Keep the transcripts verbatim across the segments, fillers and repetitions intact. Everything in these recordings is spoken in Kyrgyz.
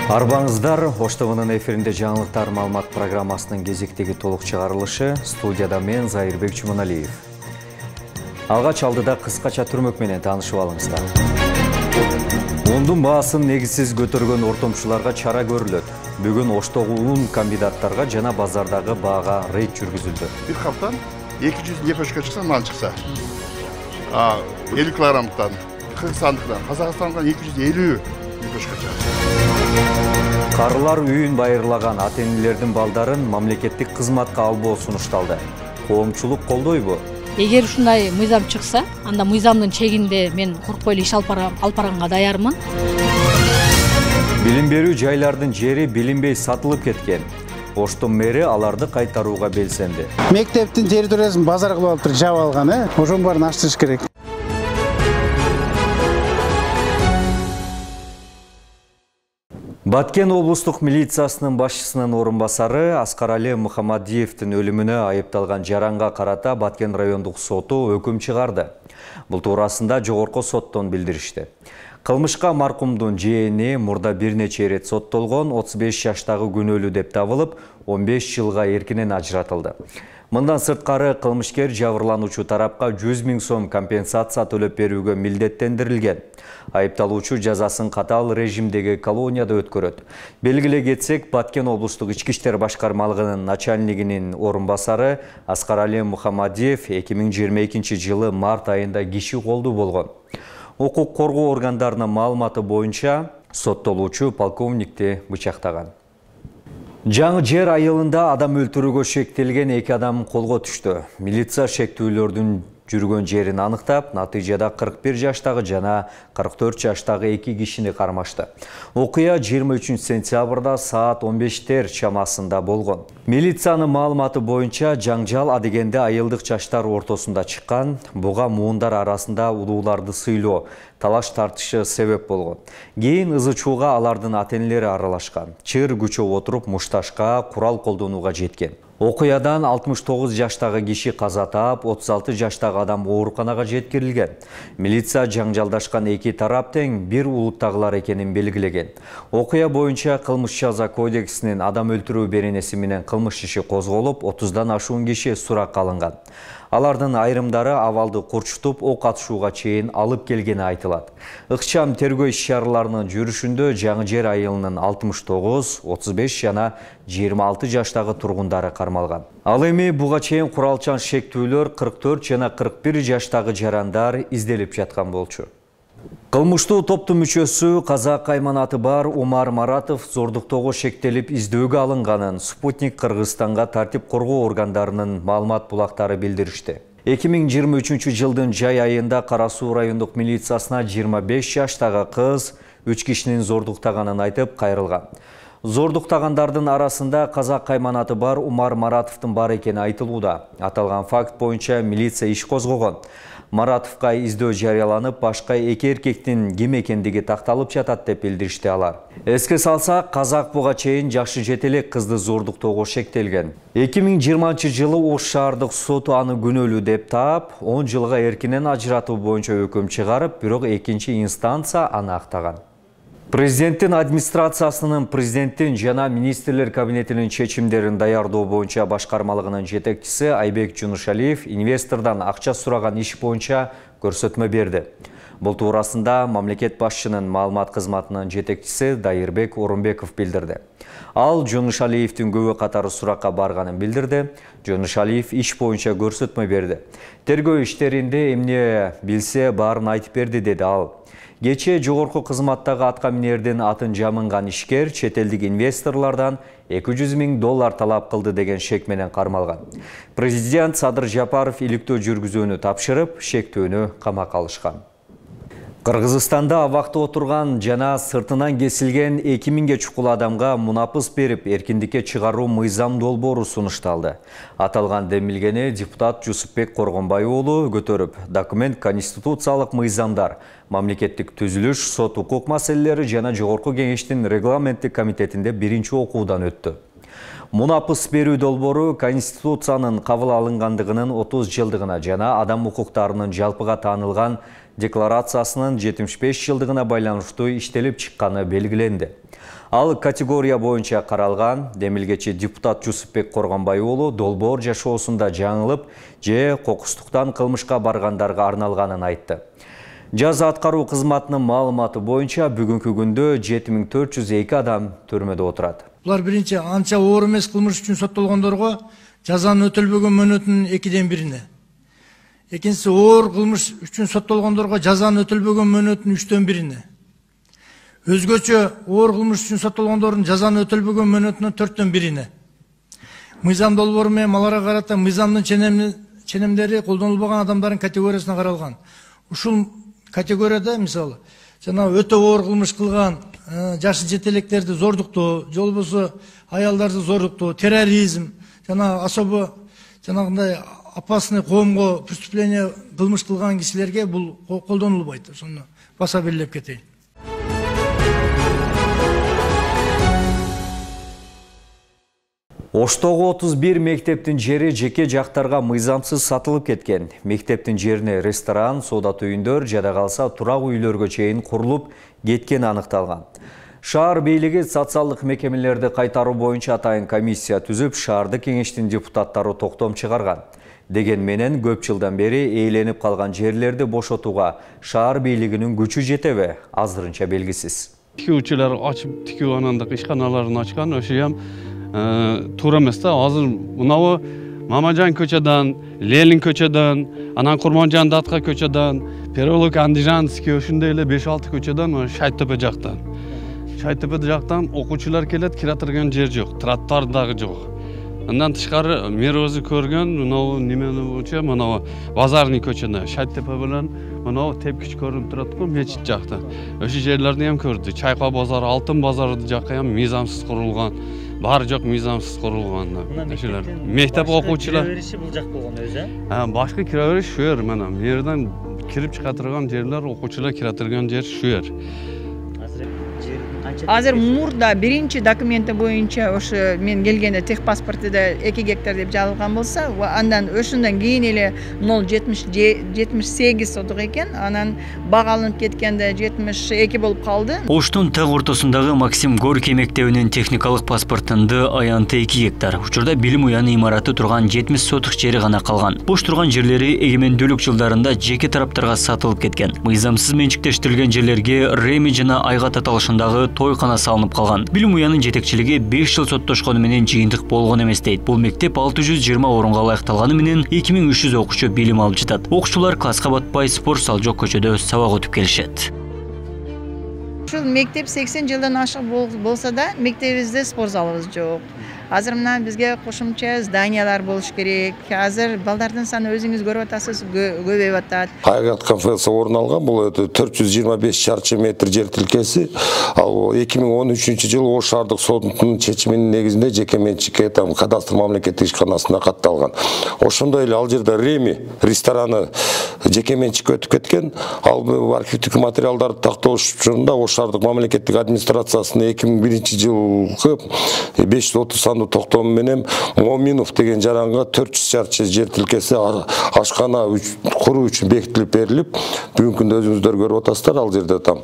Арбаңыздар, Ош ТВнын эфиринде жаңылыктар маалымат программасынын кезектеги толук чыгарылышы. Студияда мен Зайырбек Чуманалиев. Алгач алдыда кыскача түрмөк менен таанышып алыңыздар. Ундун баасын негизсиз көтөргөн ортомчуларга чара көрүлөт. Бүгүн Оштогу ун кандидаттарга жана базардагы баага рейд жүргүзүлдү. Бир каптан эки жүз лепешка чыкса, ман чыкса. А элүү килограммдан, Кыргызстандыктан, Казакстандан эки жүз элүү лепешка чыкты. Карылар үйүн байырлаган ата-энелердин балдарын мамлекеттик кызматка албоо сунушталды. Коомчулук колдойбу? Эгер ушундай мыйзам чыкса, анда мыйзамдын чегинде мен коркпой эле иш алып барганга даярмын. Билим берүү жайлардын жери билинбей сатылып кеткен. Оштун мэри аларды кайтарууга белсенди. Мектептин территориясын базар кылып алып туруп жаап алган, э? Ошонун баарын ачтырыш керек. Баткен облустук милициясынын башчысынын орун басары Аскарали Мухамадиевдин өлүмүнө айыпталган жаранга карата Баткен райондук соту өкүм чыгарды. Бул туурасында жогорку соттон билдиришти. Кылмышка маркумдун жээни мурда бир нече ирет соттолгон отуз беш жаштагы күнөөлүү деп табылып, он беш жылга эркинен ажыратылды. Мындан сырткары кылмышкер жабырлануучу тарапка жүз миң сом компенсация төлөп берүүгө милдеттендирилген. Айыпталуучу жазасын катаал режимдеги колонияда өткөрөт. Белгилей кетсек, Баткен облустук ички иштер башкармалыгынын начальнигинин орун басары Аскарали Мухамадиев эки миң жыйырма экинчи жылы март айында киши колдуу болгон. Укук коргоо органдарынын маалыматы боюнча соттолуучу полковникти бычактаган. Жаңы жер айылында адам өлтүрүүгө шектелген эки адам колго түштү. Милиция шектүүлөрдүн жүргөн жерин аныктап, натыйжада кырк бир жаштагы жана кырк төрт жаштагы эки кишини кармашты. Окуя жыйырма үчүнчү сентябрда саат он бештер чамасында болгон. Милициянын маалыматы боюнча жаңжал адегенде айылдык жаштар ортосунда чыккан. Буга муундар арасында улууларды сыйлоо, талаш тартышы себеп болгон. Кийин ызы чууга алардын ата-энелери аралашкан. Чыр күчөп отуруп мушташка, курал колдонууга жеткен. Окуядан алтымыш тогуз жаштагы киши каза таап, отуз алты жаштагы адам ооруканага жеткирилген. Милиция жаңжалдашкан эки тарап тең бир улуттагылар экенин белгилеген. Окуя боюнча кылмыш жаза кодексинин адам өлтүрүү беренеси менен кылмыш иши козголуп, отуздан ашуун киши суракка алынган. Алардын айрымдары абалды курчутуп, ок атышууга чейин алып келгени айтылат. Ыкчам тергөө иш-чараларынын жүрүшүндө жаңы жер айылынын алтымыш тогуз, отуз беш жана жыйырма алты жаштагы тургундары кармалган. Ал эми буга чейин куралчан шектүүлөр кырк төрт жана кырк бир жаштагы жарандар изделип жаткан болчу. Кылмыштуу топтун мүчөсү казак айманаты бар Умар Маратов зордуктоого шектелип издөөгө алынганын Спутник Кыргызстанга тартип коргоо органдарынын маалымат булактары билдиришти. эки миң жыйырма үчүнчү жылдын жай айында Кара Суу райондук милициясына жыйырма беш жаштагы кыз үч кишинин зордуктаганын айтып кайрылган. Зордуктагандардын арасында казак айманаты бар Умар Маратовдун бар экени айтылууда. Аталган факт боюнча милиция иш козгогон. Маратовга издөө жарыяланып, башка эки эркектин ким экендиги такталып жатат деп билдиришти алар. Эске салсак, казак буга чейин жашы жете элек кызды зордуктоого шектелген. эки миң жыйырманчы жылы Ош шаардык соту аны күнөөлүү деп таап, он жылга эркинен ажыратуу боюнча өкүм чыгарып, бирок экинчи инстанция аны актаган. Президенттин администрациясынын президенттин жана министрлер кабинетинин чечимдерин даярдоо боюнча башкармалыгынын жетекчиси Айбек Жунушалиев инвестордон акча сураган иш боюнча көрсөтмө берди. Бул туурасында мамлекет башчынын маалымат кызматынын жетекчиси Дайырбек Орунбеков билдирди. Ал Жунушалиевдин көбү катары суракка барганын билдирди. Жунушалиев иш боюнча көрсөтмө берди. Тергөө иштеринде эмне билсе баарын айтып берди, деди ал. Кече жогорку кызматтагы атка минердин атын жамынган ишкер чет элдик инвесторлордон эки жүз миң доллар талап кылды деген шек менен кармалган. Президент Садыр Жапаров иликтөө жүргүзүүнү тапшырып, шектүүнү камакка алышкан. Кыргызстанда абакта отурган жана сыртынан кесилген эки миңге чукул адамга мунапыс берип, эркиндикке чыгаруу мыйзам долбоору сунушталды. Аталган демилгени депутат Жусупбек Коргонбай уулу көтөрүп, документ конституциялык мыйзамдар, мамлекеттик түзүлүш, сот укук маселелери жана жогорку кеңештин регламенттик комитетинде биринчи окуудан өттү. Мунапыс берүү долбоору Конституциянын кабыл алынгандыгынын отуз жылдыгына жана адам укуктарынын жалпыга таанылган декларациясынын жетимиш беш жылдыгына байланыштуу иштелип чыкканы белгиленди. Ал категория боюнча каралган. Демилгечи депутат Жусупбек Коргонбай уулу долбоор жашоосунда жаңылып же кокустуктан кылмышка баргандарга арналганын айтты. Жаза аткаруу кызматынын маалыматы боюнча бүгүнкү күндө жети миң төрт жүз эки адам түрмөдө отурат. Булар биринчи анча оор эмес кылмыш үчүн соттолгондорго жазанын өтөлбөгөн мөөнөтүнүн экиден бирине. Экинчиси оор кылмыш үчүн соттолгондорго жазанын өтөлбөгөн мөөнөтүнүн үчтөн бирине. Өзгөчө оор кылмыш үчүн соттолгондордун жазанын өтөлбөгөн мөөнөтүнүн төрттөн бирине. Мыйзам долбоору менен аларга карата мыйзамдын ченемдери колдонулбаган адамдардын категориясына каралган. Ушул категорияда мисалы жана өтө оор кылмыш кылган жашы жетелектерди зордуктоо, же болбосо аялдарды зордуктоо, терроризм жана особо жанагындай опасный коомго преступление кылмыш кылган кишилерге бул колдонулбайт. Ошону баса белгилеп кетейин. Оштогу отуз бир мектептин жери жеке жактарга мыйзамсыз сатылып кеткен. Мектептин жерине ресторан, соода үйүндөр, жада калса турак үйлөргө чейин курулуп кеткени аныкталган. Шаар бийлиги социалдык мекемелерди кайтаруу боюнча атайын комиссия түзүп, шаардык кеңештин депутаттары токтом чыгарган. Деген менен көп жылдан бери ээленип калган жерлерди бошотууга шаар бийлигинин күчү жетеби азырынча белгисиз. Тикүүчүлөр ачып тикүү анандык ишканаларын ачкан, ошо ham туура эмес да. Азыр мынабу Мамажан көчөдөн, Ленин көчөдөн, анан Курманжан Датка көчөдөн, Переулок Андижанский ошондой эле беш алты көчөдөн Шайтөбө жактан. Шайтөбө жактан окуучулар келет, кире турган жер жок, тротуар дагы жок. Андан тышкары мэр өзү көргөн, мынабу немени болчу, мынабу Базарный көчөдө, Шайтөбө менен мынабу тепкич көрүнүп турат го, мечит жакта. Ошо жерлерди ham көрдү. Чайка базары, Алтын базары жакка ham мыйзамсыз курулган. Баары жок мыйзамсыз курулган. Ошолор мектеп окуучулар бериши бул жак болгон өзү. А, башка кире бериш шу жер, мына мэрден кирип чыга турган жерлер, окуучулар кире турган жер шу жер. Азыр мурда биринчи документи боюнча ошо мен келгенде техпаспортунда эки гектар деп жазылган болсо, андан ошондон кийин эле ноль жетимиш сегиз сотук экен, анан бага алынып кеткенде жетимиш эки болуп калды. Оштун так ортосундагы Максим Горький мектебинин техникалык паспортунда аянты эки гектар. Учурда билим уяны имараты турган жетимиш сотук жери гана калган. Бош турган жерлери эгемендүүлүк жылдарында жеке тараптарга сатылып кеткен. Мыйзамсыз менчиктештирилген жерлерге Реми жана Айга таталышындагы тойкана салынып калган. Билим уянын жетекчилиги беш жыл соттошкону менен жыйынтык болгон эмес дейт. Бул мектеп алты жүз жыйырма орунга ылайыкталганы менен эки миң үч жүз окуучу билим алып жатат. Окуучулар класска батпай спорт зал жок көчөдө сабак өтүп келишет. Ушул мектеп сексен жылдан ашык болсо да, мектебибизде спорт залыбыз жок. Азыр мына бизге кошумча зданиялар болуш керек. Азыр балдардын саны өзүңүз көрүп атасыз, көбөйүп атат. Айгат кафеси орун алган, бул төрт жүз жыйырма беш чарчы метр жер тилкеси. Ал эки миң он үчүнчү жылы Ош шаардык сотунун чечиминин негизинде жеке менчикке там кадастр мамлекеттик ишканасына катталган. Ошондой эле ал жерде Реми рестораны жеке менчикке өтүп кеткен. Ал архивдик материалдарды тактоош учурунда Ош шаардык мамлекеттик администрациясынын эки миң биринчи жылкы беш жүз отуз токтому менен Моминов деген жаранга төрт жүз чарчы жер тилкеси ашкана куруу үчүн бекитилип берилип, бүгүнкү күндө өзүңүздөр көрүп атасыздар, ал жерде там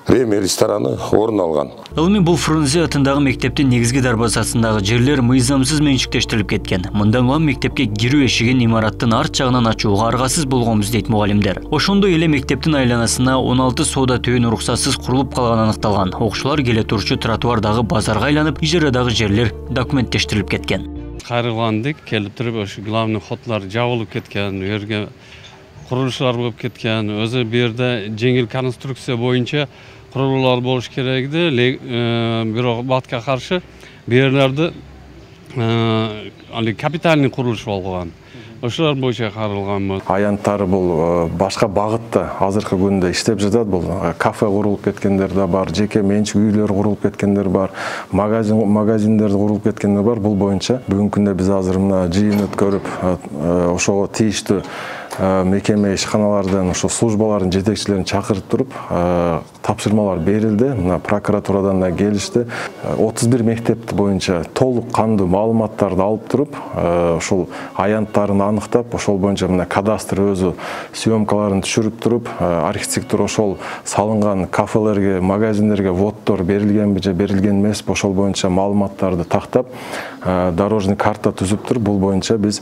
Реми рестораны орун алган. Эми бул Фрунзе атындагы мектептин негизги дарбазасындагы жерлер мыйзамсыз менчиктештирилип кеткен. Мындан улам мектепке кирүү эшигин имараттын арт жагынан ачууга аргасыз болгонбуз дейт мугалимдер. Ошондой эле мектептин айланасына он алты соода түйүн уруксатсыз курулуп калганы аныкталган. Окуучулар келе турчу тротуардагы базарга айланып, ижарадагы жерлер документтештирилип кеткен. Кайрылгандык келип туруп ошо главный ходдор жабылып кеткен, у жерге курулуштар болуп кеткен. Өзү бу жерде жеңил конструкция боюнча курулуулар болуш керек эди, бирок батка каршы бу жерлерде али капитальный курулуш болгон. Ошолор боюнча каралган. Аянттары бул башка багытта азыркы күндө иштеп жатат. Бул кафе курулуп кеткендер да бар, жеке менчик үйлөр курулуп кеткендер бар, магазин магазиндер курулуп кеткендер бар. Бул боюнча бүгүнкү күндө биз азыр мына жыйын өткөрүп, ошого тийиштүү мекеме ишканалардын ошо службалардын жетекчилерин чакырып туруп тапшырмалар берилди. Мына прокуратурадан да келишти. отуз бир мектеп боюнча толук кандуу маалыматтарды алып туруп, ошол аянттарын аныктап, ошол боюнча мына кадастр өзү съемкаларын түшүрүп туруп, архитектура ошол салынган кафелерге, магазиндерге вводдор берилгенби же берилген эмеспи, ошол боюнча маалыматтарды тактап, дорожный карта түзүп туруп, бул боюнча биз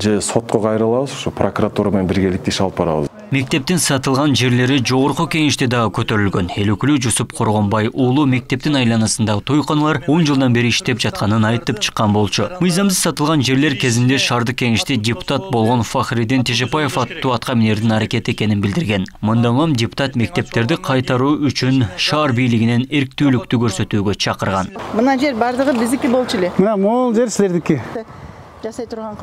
же сотко кайрылабыз, ошо прокуратура менен биргеликте иш алып барабыз. Мектептин сатылган жерлери жогорку кеңеште дагы көтөрүлгөн. Эл өкүлү Жусуп Коргонбай уулу мектептин айланасындагы тойканалар он жылдан бери иштеп жатканын айтып чыккан болчу. Мыйзамсыз сатылган жерлер кезинде шаардык кеңеште депутат болгон Фахриддин Тежепаев аттуу атка минердин аракети экенин билдирген. Мындан соң депутат мектептерди кайтаруу үчүн шаар бийлигинен эрктүүлүктү көрсөтүүгө чакырган. Мына жер бардыгы биздики болчу эле. Мына могул жер силердики. Жасай турган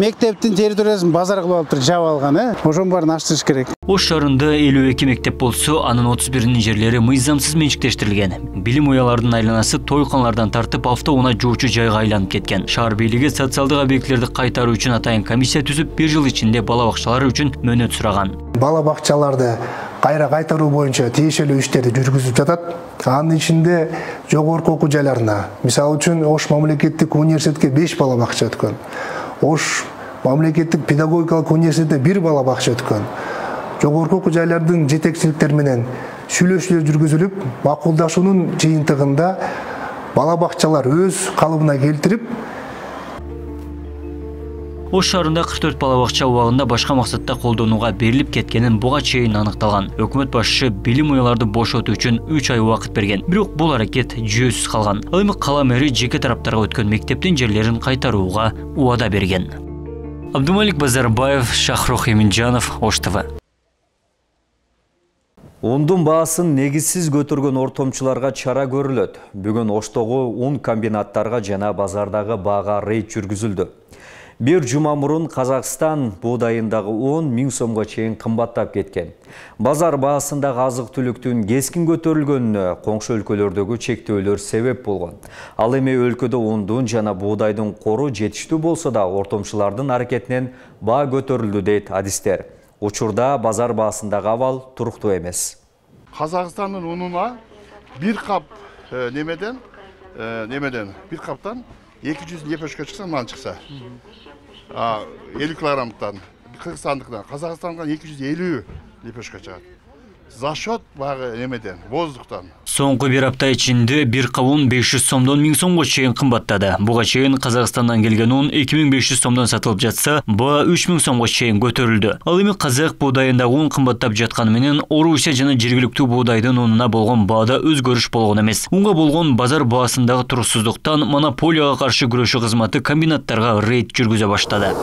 мектептин территориясын базар кылып алып туруп жаап алган, э? Ошонун баарын ачтырыш керек. Ош шаарында элүү эки мектеп болсо, анын отуз биринин жерлери мыйзамсыз менчиктештирилген. Билим уяларынын айланасы тойканалардан тартып автоунаа жуучу жайга айланып кеткен. Шаар бийлиги социалдык объектилерди кайтаруу үчүн атайын комиссия түзүп, бир жыл ичинде бала бакчалары үчүн мөөнөт сураган. Бала бакчаларды кайра кайтаруу боюнча тиешелүү иштерди жүргүзүп жатат. Анын ичинде жогорку окуу жайларына, мисалы үчүн Ош мамлекеттик университетке беш бала бакча өткөн. Ош мамлекеттик педагогикалык университетте бир бала бакча өткөн. Жогорку окуу жайлардын жетекчиликтери менен сүйлөшүүлөр жүргүзүлүп, макулдашуунун жыйынтыгында бала бакчалар өз калыбына келтирип, Ош шаарында кырк төрт бала бакча убагында башка максатта колдонууга берилип кеткенин буга чейин аныкталган. Өкмөт башчысы билим уяларды бошотуу үчүн үч ай убакыт берген. Бирок бул аракет жүйөсүз калган. Ал эми кала мэри жеке тараптарга өткөн мектептин жерлерин кайтарууга убада берген. Абдумалик Базарбаев, Шахрух Эминжанов, Ош ТВ. Ундун баасын негизсиз көтөргөн ортомчуларга чара көрүлөт. Бүгүн Оштогу ун комбинаттарга жана базардагы баага рейд жүргүзүлдү. Бир жума мурун Казакстан буудайындагы он миң сомго чейин кымбаттап кеткен. Базар баасындагы азык-түлүктүн кескин көтөрүлгөнүнө коңшу өлкөлөрдөгү чектөөлөр себеп болгон. Ал эми өлкөдө ундун жана буудайдын кору жетиштүү болсо да ортомчулардын аракетинен баа көтөрүлдү дейт адистер. Учурда базар баасындагы абал туруктуу эмес. Казакстандын унуна бир кап немеден немеден бир каптан эки жүз лепешка чыкса, мындан чыкса. элүү килограммдан, Кыргызстандыктан, Казакстандан эки жүз элүү лепешка чыгат. За счет багы немеден, воздуктан. Соңку бир апта ичинде бир кабун беш жүз сомдон миң сомго чейин кымбаттады. Буга чейин Казакстандан келген un эки миң беш жүз сомдон сатылып жатса, баа үч миң сомго чейин көтөрүлдү. Ал эми казак буудайындагы un кымбаттап жатканы менен Орусия жана жергиликтүү буудайдын унуна болгон баада өзгөрүш болгон эмес. Унга болгон базар баасындагы туруксуздуктан монополияга каршы күрөшүү кызматы комбинаттарга рейд жүргүзө баштады.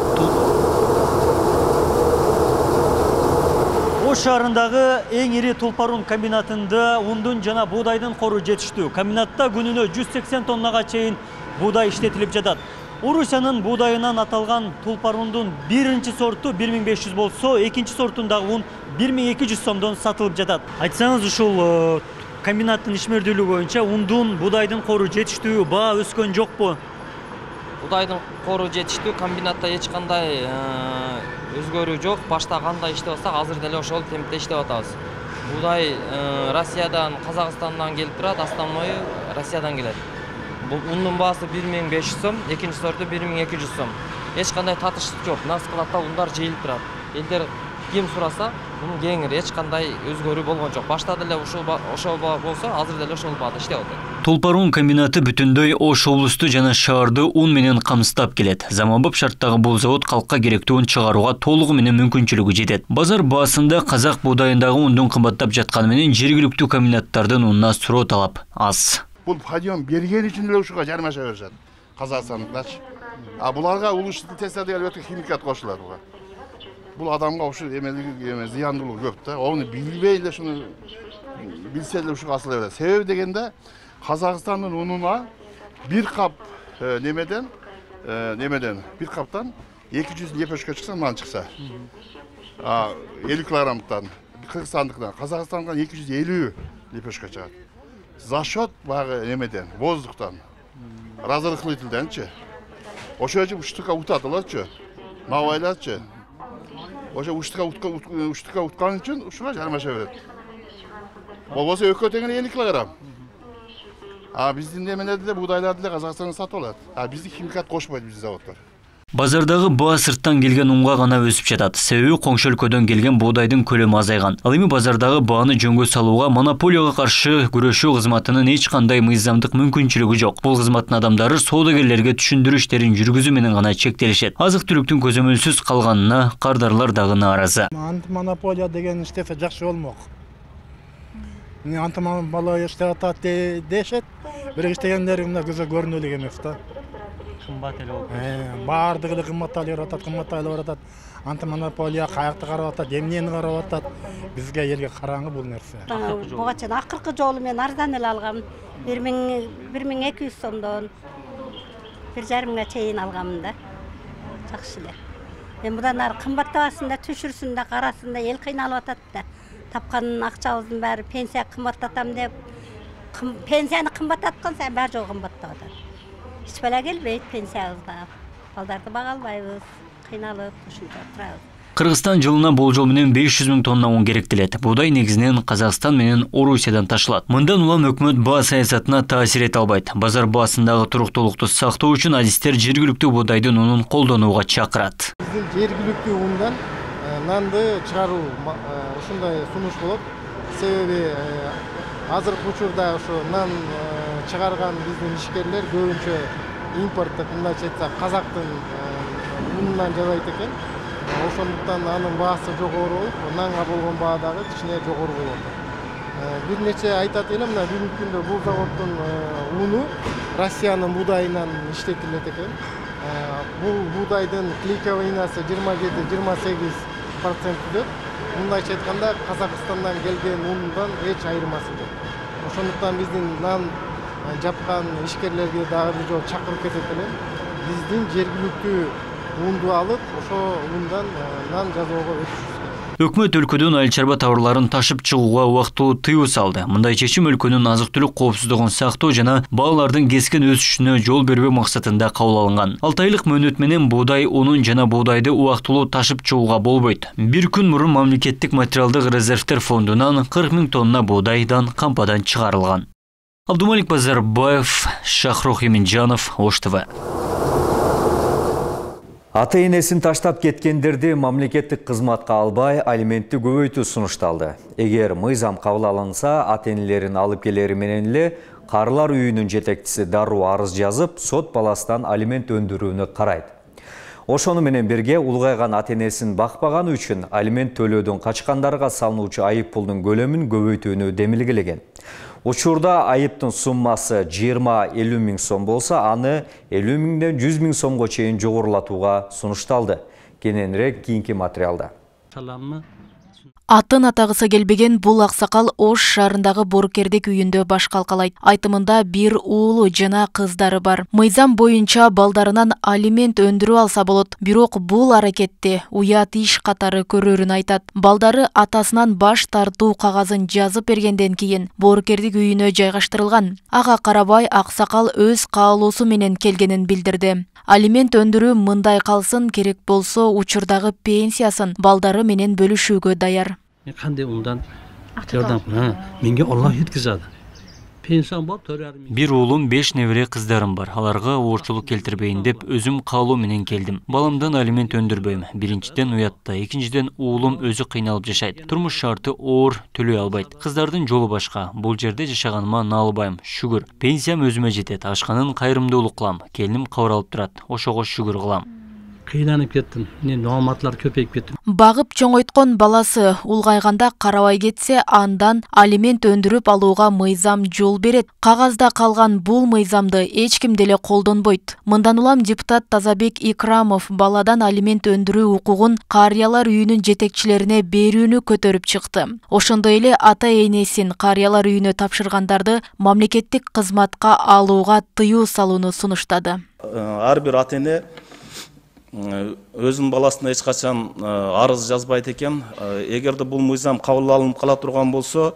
Ош шаарындагы эң ири Тулпарун комбинатында ундун жана буудайдын кору жетиштүү. Комбинатта күнүнө жүз сексен тоннага чейин буудай иштетилип жатат. Орусиянын буудайынан аталган Тулпарундун биринчи сорту бир миң беш жүз болсо, экинчи сортундагы ун бир миң эки жүз сомдон сатылып жатат. Айтсаңыз, ушул комбинаттын ишмердүүлүгү боюнча ундун буудайдын кору жетиштүү, баа өскөн жокпу? Буудайдын кору жетиштүү, комбинатта эч кандай өзгөрүү жок. Башта кандай иштеп атсак, азыр деле ошол темпте иштеп атабыз. Буудай Россиядан, Казакстандан келип турат, основной Россиядан келет. Бул ундун баасы бир миң беш жүз сом, экинчи сорту бир миң эки жүз сом. Эч кандай татыштык жок. Мына складта ундар жыйылып турат. Элдер ким сураса, мунун кеңири эч кандай өзгөрүү болгон жок. Башта деле ушул ошол болсо, азыр деле ошол баада иштеп атат. Тулпарун комбинаты бүтүндөй Ош облусту жана шаарды un менен камсыздап келет. Заманбап шарттагы бул завод калкка керектүү un чыгарууга толугу менен мүмкүнчүлүгү жетет. Базар баасында казак буудайындагы ундун кымбаттап жатканы менен жергиликтүү комбинаттардын унуна суроо талап аз. Бул подъем берген үчүн эле ушуга жармаша беришет. Казакстандыктарчы. А буларга улуштуу тестер деген өтө химикат кошулат буга. Бул адамга ушу эмелиги эме зыяндуулугу көп да. Ону билбей эле шуну билсе эле ушуга асыла берет. Себеби дегенде Казакстандын унуна бир кап немеден немеден бир каптан эки жүз лепешка чыкса, мындан чыкса. элүү килограммдан, Кыргызстандыктан, Казакстандан эки жүз элүү лепешка чыгат. За счет багы немеден, воздуктан, разрыхлительденчи. Ошо үчүн штука утат алатчы. мага байлачы. Ошо уштукка уштукка уткан үчүн ушуга жармаша берет. Болбосо экөө теңине элүү килограмм. А биздин неменеде де буудайларды деле Казакстандан сатып алат. А бизди химикат кошпойт биздин заводдор. Базардагы баа сырттан келген унга гана өсүп жатат. Себеби коңшу өлкөдөн келген буудайдын көлөмү азайган. Ал эми базардагы бааны жөнгө салууга монополияга каршы күрөшүү кызматынын эч кандай мыйзамдык мүмкүнчүлүгү жок. Бул кызматтын адамдары соодагерлерге түшүндүрүү иштерин жүргүзүү менен гана чектелишет. Азык-түлүктүн көзөмөлсүз калганына кардарлар дагы нааразы. Антимонополия деген иштесе жакшы болмок. Антимонополия иштеп атат дешет, бирок иштегендери мына көзгө көрүнүп эле эмес да. Кымбат эле болуп. Баардыгы эле кымбатталып атат, кымбатталып атат. Антимонополия каякты карап атат, эмнени карап атат. Бизге элге караңгы бул нерсе. Буга чейин акыркы жолу мен арзан эле алгам. бир миң эки жүз сомдон бир жарым миңге чейин алгамын да. Жакшы эле. Мен мындан ары кымбаттабасын да, түшүрсүн да, карасын да, эл кыйналып атат да. Тапкан акчабыздын баары пенсия кымбаттатам деп, пенсияны кымбаттаткан сайын баары жол кымбаттап атат. Эч бала келбейт пенсиябызга. Балдарды бага албайбыз, кыйналып ушунча турабыз. Кыргызстан жылына болжол менен беш жүз миң тонна un керектелет. Буудай негизинен Казакстан менен Орусиядан ташылат. Мындан улам өкмөт баа саясатына таасир эте албайт. Базар баасындагы туруктуулукту сактоо үчүн адистер жергиликтүү буудайдын унун колдонууга чакырат. Биздин жергиликтүү ундан нанды чыгаруу ушундай сунуш болот. Себеби азыркы учурда ошо нан чыгарган биздин ишкерлер көбүнчө импорттук, мындайча айтсак, казактын унунан жасайт экен. Ошондуктан анын баасы жогору болуп, нанга болгон баа дагы кичине жогору болот. Бир нече айтат элем, мына бүгүнкү күндө бул заводдун уну Россиянын буудайынан иштетилет экен. Бул буудайдын клейковыйнасы жыйырма жети жыйырма сегиз процент түзөт. Мындайча айтканда Казакстандан келген ундан эч айырмасы жок. Ошондуктан биздин нан жапкан ишкерлерге дагы бир жолу чакырып кетет элем. Биздин жергиликтүү унду алып, ошо ундан нан жасоого өтүшүбүз. Өкмөт өлкөдөн айыл чарба товарларын ташып чыгууга убактылуу тыюу салды. Мындай чечим өлкөнүн азык-түлүк коопсуздугун сактоо жана баалардын кескен өсүшүнө жол бербөө максатында кабыл алынган. алты айлык мөөнөт менен буудай унун жана буудайды убактылуу ташып чыгууга болбойт. Бир күн мурун мамлекеттик материалдык резервтер фондунан кырк миң тонна буудайдан кампадан чыгарылган. Абдумалик Базарбаев, Шахрух Эминжанов, Ош ТВ. Ата-энесин таштап кеткендерди мамлекеттик кызматка албай, алиментти көбөйтүү сунушталды. Эгер мыйзам кабыл алынса, ата-энелерин алып келери менен эле карылар үйүнүн жетекчиси дароо арыз жазып, сот баласынан алимент өндүрүүнү карайт. Ошону менен бирге улгайган ата-энесин бакпаганы үчүн алимент төлөөдөн качкандарга салынуучу айып пулдун көлөмүн көбөйтүүнү демилгелеген. Учурда айыптын суммасы жыйырма элүү миң сом болсо, аны элүү миңден жүз миң сомго чейин жогорулатууга сунушталды. Кененирээк кийинки материалда. Атын атагысы келбеген бул аксакал Ош шаарындагы Боркердик үйүндө баш калкалайт. Айтымында бир уулу жана кыздары бар. Мыйзам боюнча балдарынан алимент өндүрүп алса болот. Бирок бул аракетти уят иш катары көрөрүн айтат. Балдары атасынан баш тартуу кагазын жазып бергенден кийин Боркердик үйүнө жайгаштырылган. Ага карабай аксакал өз каалоосу менен келгенин билдирди. Алимент өндүрүү мындай калсын, керек болсо учурдагы пенсиясын балдары менен бөлүшүүгө даяр. Кандай ундан жардам менге Аллах жеткизadi. Пенсиям бар, төрт миң. Бир уулум, беш небере кыздарым бар. Аларга оорчулук келтирбейин деп өзүм каалоо менен келдим. Баламдан алимент өндүрбөйм. Биринчиден уятта, экинчиден уулум өзү кыйналып жашайт. Турмуш шарты оор, төлөй албайт. Кыздардын жолу башка. Бул жерде жашаганыма наалбайм. Шүгүр. Пенсиям өзүмө жетет. Ашканын кайрымдуулук кылам. Келиним кабыл алып турат. Ошого шүгүр кылам. Кыйнанып кеттим. Мен маалыматтар көпөйүп кетти. Багып чоңойткон баласы улгайганда карабай кетсе, андан алимент өндүрүп алууга мыйзам жол берет. Кагазда калган бул мыйзамды эч ким деле колдонбойт. Мындан улам депутат Тазабек Икрамов баладан алимент өндүрүү укугун карыялар үйүнүн жетекчилерине берүүнү көтөрүп чыкты. Ошондой эле ата-энесин карыялар үйүнө тапшыргандарды мамлекеттик кызматка алууга тыюу салууну сунуштады. Ар бир ата-эне өзүнүн баласына эч качан арыз жазбайт экен. Эгерде бул мыйзам кабыл алынып кала турган болсо,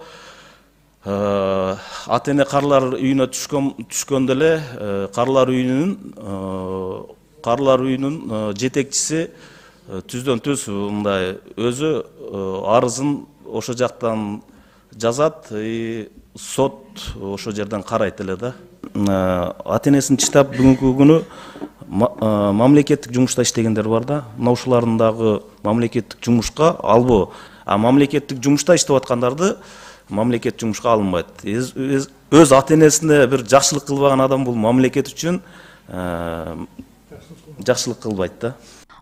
ата-эне карылар үйүнө түшкөн түшкөндө эле карылар үйүнүн карылар үйүнүн жетекчиси түздөн түз мындай өзү арызын ошо жактан жазат, сот ошо жерден карайт эле да. Ата энесин чыдап бүгүнкү күнү мамлекеттик жумушта иштегендер бар да. Мына ушулардын дагы мамлекеттик жумушка албоо, а мамлекеттик жумушта иштеп аткандарды мамлекет жумушка алынбайт. Өз ата энесине бир жакшылык кылбаган адам бул мамлекет үчүн жакшылык кылбайт да.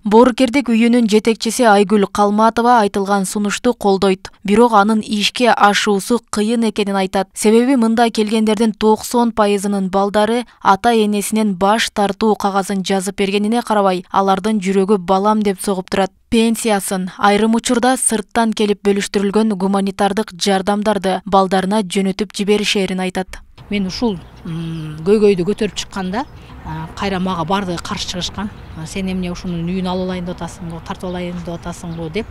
Боорукердик үйүнүн жетекчиси Айгүл Калматова айтылган сунушту колдойт. Бирок анын ишке ашуусу кыйын экенин айтат. Себеби мында келгендердин токсон пайызынын балдары ата энесинен баш тартуу кагазын жазып бергенине карабай, алардын жүрөгү балам деп согуп турат. Пенсиясын, айрым учурда сырттан келип бөлүштүрүлгөн гуманитардык жардамдарды балдарына жөнөтүп жиберишерин айтат. Мен ушул көйгөйдү көтөрүп чыкканда кайра мага барды каршы чыгышкан. Сен эмне ушунун үйүн алып алайын деп атасың го, тартып алайын деп атасың го деп.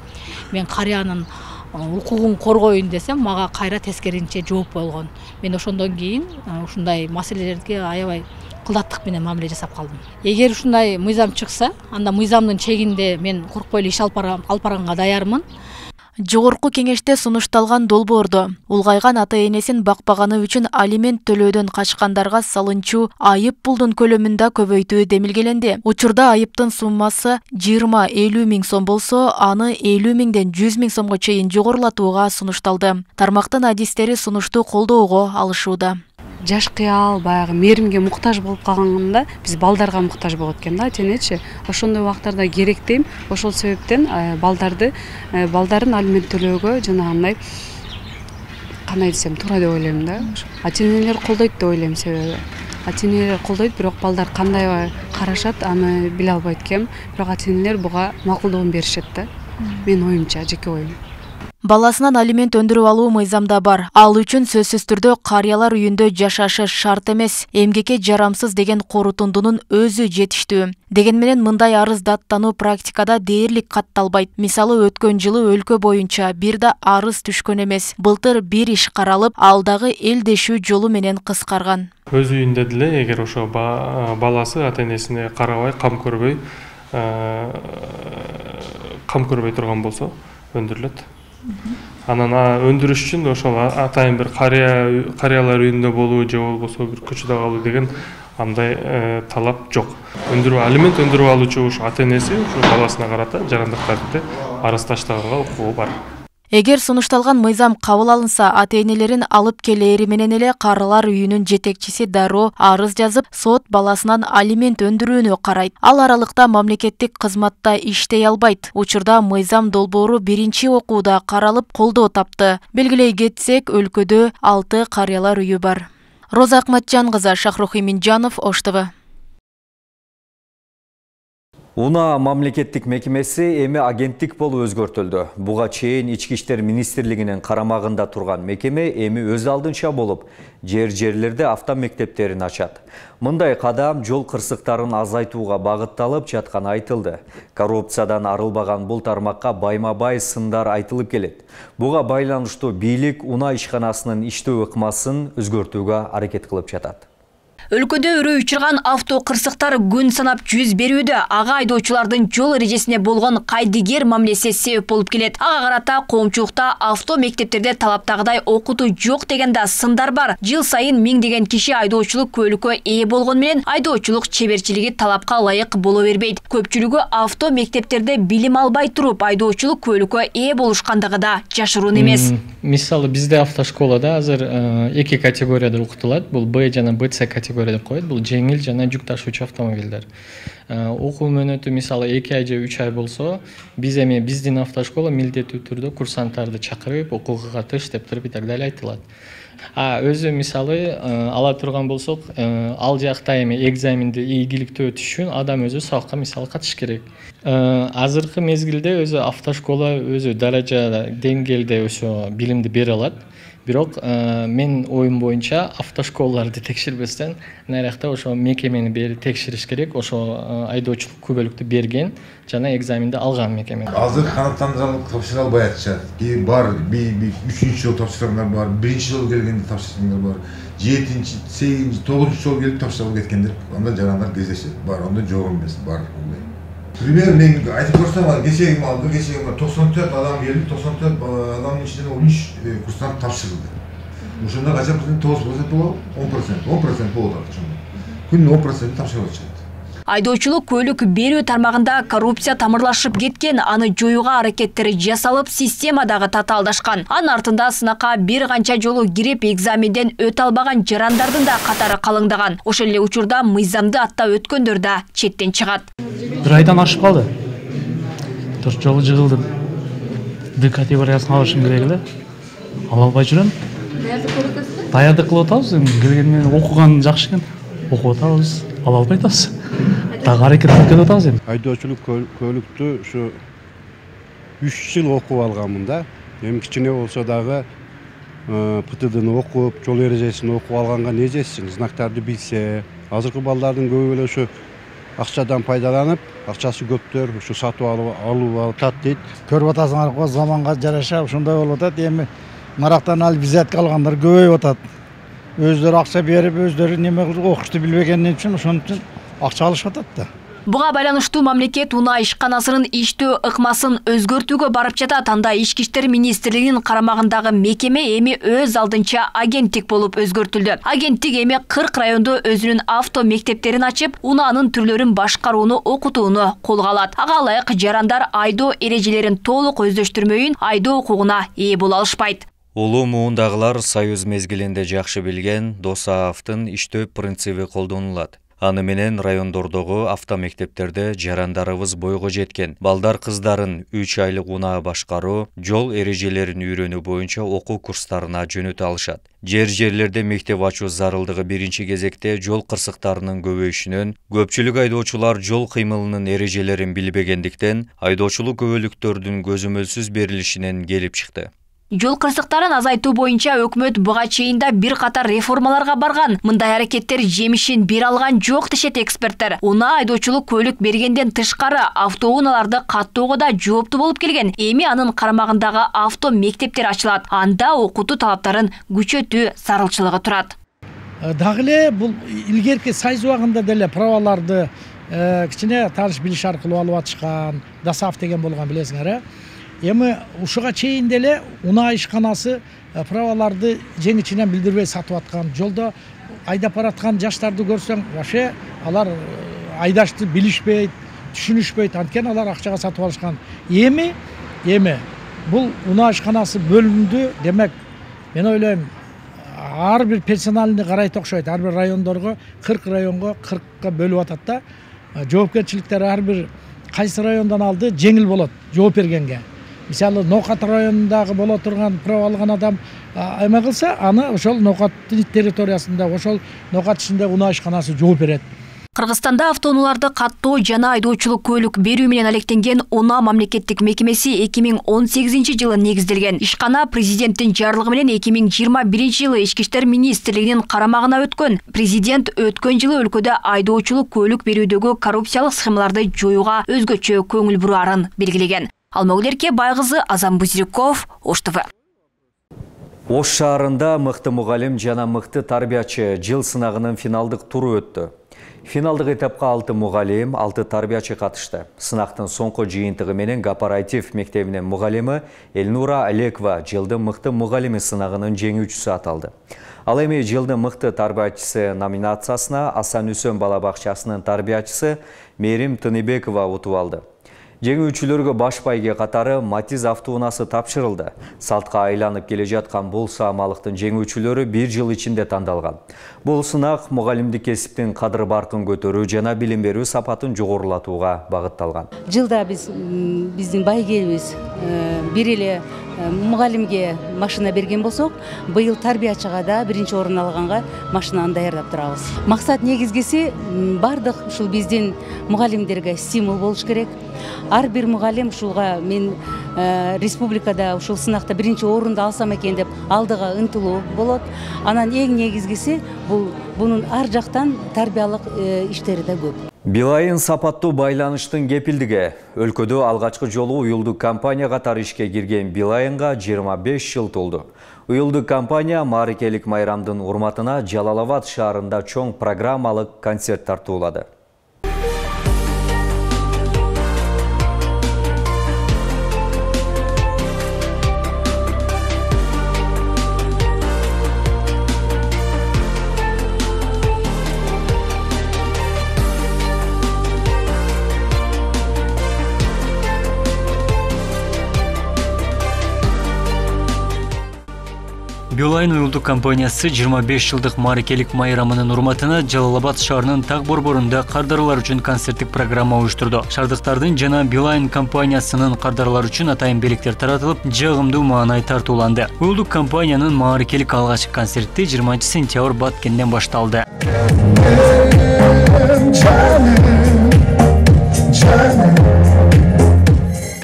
Мен карыянын укугун коргоюн десем, мага кайра тескеринче жооп болгон. Мен ошондон кийин ушундай маселелерге аябай кылдаттык менен мамиле жасап калдым. Эгер ушундай мыйзам чыкса, анда мыйзамдын чегинде мен коркпой эле иш алып барганга даярмын. Жогорку кеңеште сунушталган долбоордо улгайган ата энесин бакпаганы үчүн алимент төлөөдөн качкандарга салынчу айып пулдун көлөмүн да көбөйтүү демилгеленди. Учурда айыптын суммасы жыйырма элүү миң сом болсо, аны элүү миңден жүз миң сомго чейин жогорулатууга сунушталды. Тармактын адистери сунушту колдоого алышууда. Жаш кыял баягы мээримге муктаж болуп калганда биз балдарга муктаж болот экен да, ата энечи. Ошондой убактарда керек дейм. Ошол себептен балдарды балдарын алимент төлөөгө жанагындай кандай десем туура деп ойлойм да. Ата энелер колдойт деп ойлойм, себеби ата энелер колдойт, бирок балдар кандай карашат аны биле албайт экен. Бирок ата энелер буга макулдугун беришет да. Менин оюмча, жеке оюм. Баласынан алимент өндүрүп алуу мыйзамда бар. Ал үчүн сөзсүз түрдө карыялар үйүндө жашашы шарт эмес, эмгекке жарамсыз деген корутундунун өзү жетиштүү. Деген менен мындай арыз даттануу практикада дээрлик катталбайт. Мисалы өткөн жылы өлкө боюнча бир да арыз түшкөн эмес. Былтыр бир иш каралып, ал дагы элдешүү жолу менен кыскарган. Өз үйүндө деле эгер ошо баласы ата энесине карабай, кам көрбөй, кам көрбөй турган болсо өндүрүлөт. Анан өндүрүш үчүн ошол атайын бир карыя карыялар үйүндө болуу же болбосо бир көчөдө калуу деген андай талап жок. Өндүрүү алимент өндүрүп алуучу ушу ата энеси ушу баласына карата жарандык тартипте арыз таштаганга укугу бар. Эгер сунушталган мыйзам кабыл алынса, ата энелерин алып келери менен эле карылар үйүнүн жетекчиси дароо арыз жазып, сот баласынан алимент өндүрүүнү карайт. Ал аралыкта мамлекеттик кызматта иштей албайт. Учурда мыйзам долбоору биринчи окууда каралып, колдоо тапты. Белгилей кетсек, өлкөдө алты карыялар үйү бар. Роза Акматжан кызы, Шахрух Иминжанов, Ош Т В. Уна мамлекеттик мекемеси эми агенттик болуп өзгөртүлдү. Буга чейин Ички иштер министрлигинин карамагында турган мекеме эми өз алдынча болуп, жер-жерлерде автомектептерин ачат. Мындай кадам жол кырсыктарын азайтууга багытталып жатканы айтылды. Коррупциядан арылбаган бул тармакка байма-бай сындар айтылып келет. Буга байланыштуу бийлик Уна ишканасынын иштөө ыкмасын өзгөртүүгө аракет кылып жатат. Өлкөдө өрөө учурган авто кырсыктар күн санап жүз берүүдө. Ага айдоочулардын жол эрежесине болгон кайдыгер мамилеси себеп болуп келет. Ага карата коомчулукта авто мектептерде талаптагыдай окутуу жок деген да сындар бар. Жыл сайын миңдеген киши айдоочулук көлүккө ээ болгон менен айдоочулук чеберчилиги талапка ылайык боло бербейт. Көпчүлүгү авто мектептерде билим албай туруп айдоочулук көлүккө ээ болушкандыгы да жашыруун эмес. Мисалы бизде автошколада азыр эки категорияда окутулат. Бул Б жана Б С категория деп коет. Бул жеңил жана жүк ташуучу автомобилдер. Окуу мөөнөтү мисалы эки ай же үч ай болсо, биз эми биздин автошкола милдеттүү түрдө курсанттарды чакырып, окууга катыш деп туруп и так далее айтылат. А өзү мисалы ала турган болсок, ал жакта эми экзаменди ийгиликтүү өтүш үчүн адам өзү сабакка мисалы катыш керек. Азыркы мезгилде өзү автошкола өзү даража деңгээлде ошо билимди бере алат. Бирок мен оюм боюнча автошколаларды текшербестен наракта ошо мекемени бери текшериш керек. Ошо айдоочулук күбөлүктү берген жана экзаменди алган мекеме. Азыр канаттандырылып тапшыра албай атышат. Бар, үчүнчү жол тапшыргандар бар, биринчи жол келгенде тапшыргандар бар, жетинчи, сегизинчи, тогузунчу жол келип тапшырып кеткендер, анда жарандар кездешет. Бар, анда жок эмес, бар. Пример мен айтып көрсөм, кечеги алды, кечеги токсон төрт адам келип, токсон төрт адамдын ичинен он үч курстар тапшырылды. Ошондо канча процент? тогуз процент болобу? он процент. он процент болот ошондо. Күнүнө он процент тапшырып атышат. Айдоочулук көлүк берүү тармагында коррупция тамырлашып кеткен, аны жоюуга аракеттери жасалып, система дагы татаалдашкан. Анын артында сынакка бир канча жолу кирип, экзаменден өтө албаган жарандардын да катары калыңдаган. Ошол эле учурда мыйзамды аттап өткөндөр да четтен чыгат. Бир айдан ашып калды. төрт жолу жыгылдым. Д категориясын алышым керек эле. Ала албай жүрөм. Даярдык кылып атабыз. Келген менен окуган жакшы экен. Окуп атабыз. Ала албай атабыз. Дагы аракет кылып атабыз эми. Айдоочулук көлүктү ушу үч жыл окуп алганмын да. Эми кичине болсо дагы П Т Д'ны окуп, жол эрежесин окуп алганга не жетсин, знактарды билсе, азыркы балдардын көбү эле ушу акчадан пайдаланып, акчасы көптөр ушу сатып алып атат дейт. Көрүп атасыңар го, заманга жараша ушундай болуп атат. Эми нарактан алып визитка алгандар көбөйүп атат. Өздөрү акча берип, өздөрү неме кылып окушту билбегенден үчүн ошон үчүн акча алышып атат да. Буга байланыштуу мамлекет унаа ишканасынын иштөө ыкмасын өзгөртүүгө барып жатат. Анда Ички иштер министрлигинин карамагындагы мекеме эми өз алдынча агенттик болуп өзгөртүлдү. Агенттик эми кырк райондо өзүнүн авто мектептерин ачып, унаанын түрлөрүн башкарууну, окутууну колго алат. Ага ылайык жарандар айдоо эрежелерин толук өздөштүрмөйүн айдоо укугуна ээ боло алышпайт. Улуу муундагылар союз мезгилинде жакшы билген ДОСААФтын иштөө принциби колдонулат. Аны менен райондордогу автомектептерде жарандарыбыз бойго жеткен балдар кыздарын үч айлык унаа башкаруу, жол эрежелерин үйрөнүү боюнча окуу курстарына жөнөтө алышат. Жер жерлерде мектеп ачуу зарылдыгы биринчи кезекте жол кырсыктарынын көбөйүшүнөн, көпчүлүк айдоочулар жол кыймылынын эрежелерин билбегендиктен айдоочулук күбөлүктөрдүн көзөмөлсүз берилишинен келип чыкты. Жол кырсыктарын азайтуу боюнча өкмөт буга чейин да бир катар реформаларга барган. Мындай аракеттер жемишин бере алган жок дешет эксперттер. Унаа айдоочулук көлүк бергенден тышкары автоунааларды каттоого да жооптуу болуп келген. Эми анын карамагындагы авто мектептер ачылат. Анда окутуу талаптарын күчөтүү зарылчылыгы турат. Дагы эле бул илгерки союз убагында деле праваларды кичине тааныш билиш аркылуу алып атышкан. ДОСААФ деген болгон билесиңер, э? Эми ушуга чейин деле унаа ишканасы праваларды жеңичинен билдирбей сатып аткан. Жолдо айдап бараткан жаштарды көрсөң, вообще алар айдашты билишпейт, түшүнүшпөйт. Анткени алар акчага сатып алышкан. Эми, эми бул унаа ишканасы бөлүндү. Демек, мен ойлойм, ар бир персоналды карайт окшойт. Ар бир райондорго кырк районго кыркка бөлүп атат да. Жоопкерчиликтер ар бир кайсы райондон алды жеңил болот жооп бергенге. Мисалы, Ноокат районундагы боло турган права алган адам эме кылса, аны ошол Ноокат территориясында, ошол Ноокат ичинде унаа ишканасы жооп берет. Кыргызстанда автоунааларды каттоо жана айдоочулук көлүк берүү менен алектенген унаа мамлекеттик мекемеси эки миң он сегизинчи жылы негизделген. Ишкана президенттин жарлыгы менен эки миң жыйырма биринчи жылы Ички иштер министрлигинин карамагына өткөн. Президент өткөн жылы өлкөдө айдоочулук көлүк берүүдөгү коррупциялык схемаларды жоюуга өзгөчө көңүл бураарын белгилеген. Алмагүлерке Байгызы, Азам Бузирков, Ош ТВ. Ош шаарында мыкты мугалим жана мыкты тарбиячы жыл сынагынын финалдык туру өттү. Финалдык этапка алты мугалим, алты тарбиячы катышты. Сынактын соңку жыйынтыгы менен Гапарайтив мектебинин мугалими Элнура Алекова жылдын мыкты мугалими сынагынын жеңүүчүсү аталды. Ал эми жылдын мыкты тарбиячысы номинациясына Асан Үсөн бала бакчасынын тарбиячысы Мерим Тыныбекова утуп алды. Жеңүүчүлөргө баш байге катары Матиз автоунаасы тапшырылды. Салтка айланып келе жаткан бул саамалыктын жеңүүчүлөрү бир жыл ичинде тандалган. Бул сынак мугалимдик кесиптин кадыр баркын көтөрүү жана билим берүү сапатын жогорулатууга багытталган. Жылда биз биздин байгебиз бир эле мугалимге машина берген болсок, быйыл тарбиячыга да биринчи орун алганга машинаны даярдап турабыз. Максат негизгиси бардык ушул биздин мугалимдерге стимул болуш керек. Ар бир мугалим ушуга мен республикада ушул сынакта биринчи орунду алсам экен деп алдыга ынтылуу болот. Анан эң негизгиси бул бунун ар жактан тарбиялык иштери да көп. Билайын сапаттуу байланыштын кепилдиги. Өлкөдө алгачкы жолу уюлдук компания катары ишке кирген Билайынга жыйырма беш жыл толду. Уюлдук компания маарикелик майрамдын урматына Жалал Абад шаарында чоң программалык концерт тартуулады. Билайн уюлдук компаниясы жыйырма беш жылдык мааракелик майрамынын урматына Жалал Абад шаарынын Так борборунда кардарлар үчүн концерттик программа уюштурду. Шаардыктардын жана Билайн компаниясынын кардарлар үчүн атайын белектер таратылып, жагымдуу маанай тартууланды. Уюлдук компаниянын мааракелик алгачкы концерти жыйырманчы сентябрь Баткенден башталды.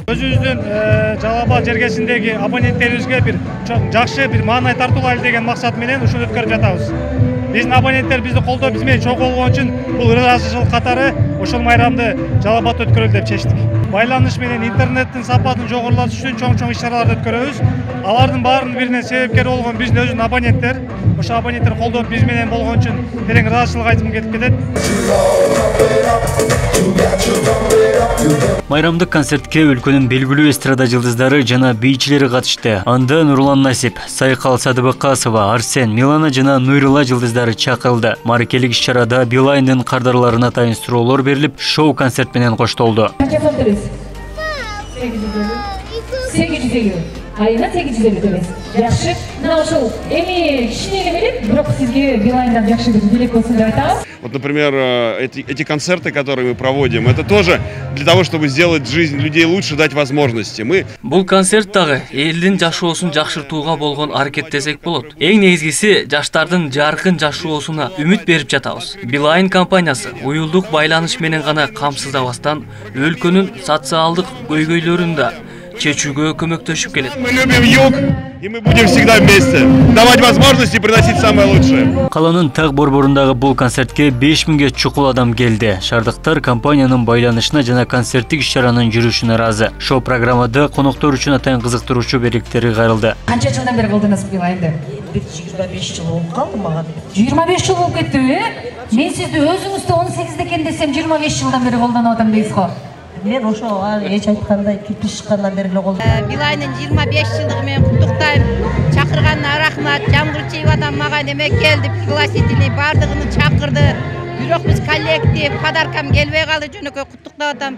Өзүбүздүн Жалал Абад жергесиндеги абоненттерибизге бир жакшы бир маанай тартуулайлы деген максат менен ушуну өткөрүп жатабыз. Биздин абоненттер бизди колдоп, биз менен чогуу болгон үчүн бул ыраазычылык катары ошол майрамды Жалал Абадта өткөрөлү деп чечтик. Байланыш менен интернеттин сапатын жогорулатыш үчүн чоң-чоң иш-чараларды өткөрөбүз. Алардын баарынын биринен себепкер болгон биздин өзүнүн абоненттер. Ошо абоненттер колдоп биз менен болгон үчүн терең ыраазычылык айткым келип кетет. Майрамдык концертке өлкөнүн белгилүү эстрада жылдыздары жана бийчилери катышты. Анда Нурлан Насип, Сайкал Садыбакасова, Арсен, Милана жана Нуйрулла жылдыздары чакырылды. Мааракелик иш-чарада Билайндын кардарларына атайын суроолор берилип, шоу-концерт менен коштолду. сегиз жүз элүү. Айына сегиз жүз элүү төлөйсүз. Жакшы. Мына ошол эми кичине эле бирок сизге Билайндан жакшы бир билет болсун деп айтабыз. Вот, например, эти, эти концерты, которые мы проводим, это тоже для того, чтобы сделать жизнь людей лучше, дать возможности. Мы... Бул концерт дагы элдин жашоосун жакшыртууга болгон аракет десек болот. Эң негизгиси жаштардын жаркын жашоосуна үмүт берип жатабыз. Билайн компаниясы уюлдук байланыш менен гана камсыздабастан өлкөнүн социалдык көйгөйлөрүн да чечүүгө көмөктөшүп келет. Мы любим юг, и мы будем всегда вместе. Давать возможности приносить самое лучшее. Каланын Так борборундагы бул концертке беш миңге чукул адам келди. Шаардыктар компаниянын байланышына жана концерттик иш-чаранын жүрүшүнө ыраазы. Шоу программада коноктор үчүн атайын кызыктыруучу белектери кайрылды. Канча жылдан бери кылдыңыз Билайнды? жыйырма беш жыл болуп калды мага. жыйырма беш жыл болуп кеттиби? Мен сизди өзүңүздө он сегизде экен десем жыйырма беш жылдан бери колдонуп атам дейсиз го. Мен ошо эч айткандай кирпич чыккандан бери эле колдойм. Билайнын жыйырма беш жылдыгы менен куттуктайм. Чакырганына рахмат. Жамгыр чейип атам мага неме келди, пригласительный бардыгын чакырды. Бирок биз коллектив, подаркам келбей калды, жөнөкөй куттуктап атам.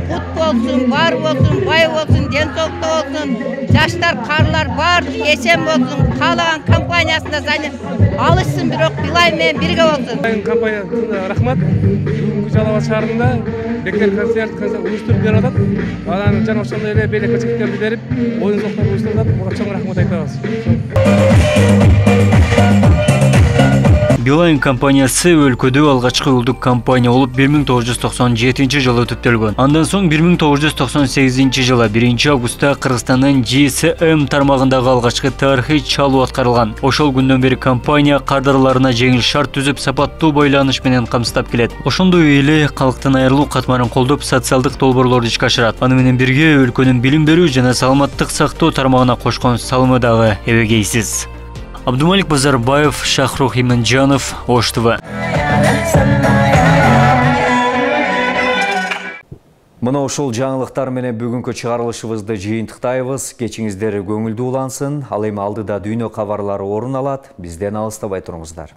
Кут болсун, бар болсун, бай болсун, ден соолукта болсун. Жаштар, карлар баардыгы эсен болсун. Каалаган компаниясында зайны алышсын, бирок Билайн менен бирге болсун. Билайн компаниясына рахмат. Бүгүнкү Жалал Абад шаарында бектер концерт уюштуруп берип атат. Анан жана ошондой эле белек концерттерди берип, оюн зоктор уюштуруп атат. Буга чоң рахмат айтабыз. Билайн компаниясы өлкөдө алгачкы уюлдук компания болуп бир миң тогуз жүз токсон жетинчи жылы түптөлгөн. Андан соң бир миң тогуз жүз токсон сегизинчи жылы биринчи августта Кыргызстандын G S M тармагындагы алгачкы тарыхый чалуу аткарылган. Ошол күндөн бери компания кардарларына жеңил шарт түзүп, сапаттуу байланыш менен камсыздап келет. Ошондой эле калктын айрылуу катмарын колдоп, социалдык долбоорлорду ишке ашырат. Аны менен бирге өлкөнүн билим берүү жана саламаттык сактоо тармагына кошкон салымы дагы эбегейсиз. Абдумалик Базарбаев, Шахрух Иманжанов, Ош Т В. Мына ошол жаңылыктар менен бүгүнкү чыгарылышыбызды жыйынтыктайбыз. Кечиңиздер көңүлдүү улансын. Ал эми алдыда дүйнө кабарлары орун алат. Бизден алыстабай туруңуздар.